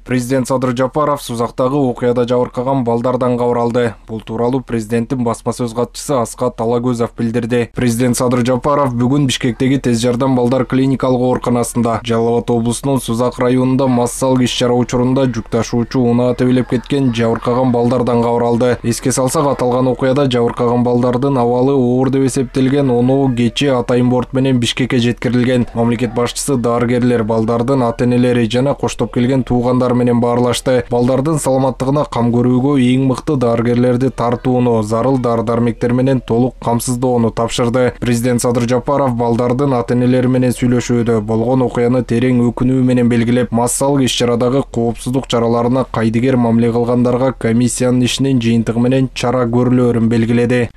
Президент Садыр Жапаров Сузактагы окуяда жабыркаган балдардан кабар алды. Бул тууралуу президенттин басма сөз катчысы Аскат Алагөзов билдирди. Президент Садыр Жапаров бүгүн Бишкектеги тез жардам балдар клиникалык ооруканасында Жалал Абад облусунун Сузак районунда массалык иш-чара учурунда жүк ташуучу унаа тебелеп кеткен жабыркаган балдардан кабар алды. Эске салсак, аталган окуяда жабыркаган балдардын абалы оор деп эсептелген 10 кечээ атайын борт менен Бишкекке жеткирилген. Мамлекет башчысы дарыгерлер, балдардын ата-энелери жана коштоп келген туугандар менен баарлашты. Балдардын саламаттыгына кам көрүүгө эң мыкты дарыгерлерди тартууну, зарыл дары-дармектер менен толук камсыздоону тапшырды. Президент Садыр Жапаров балдардын ата-энелери менен сүйлөшүүдө болгон окуяны терең өкүнүү менен белгилеп, массалык иш-чарадагы коопсуздук чараларына кайдыгер мамиле кылгандарга комиссиянын ишинин жыйынтыгы менен чара көрүлөөрүн белгиледи.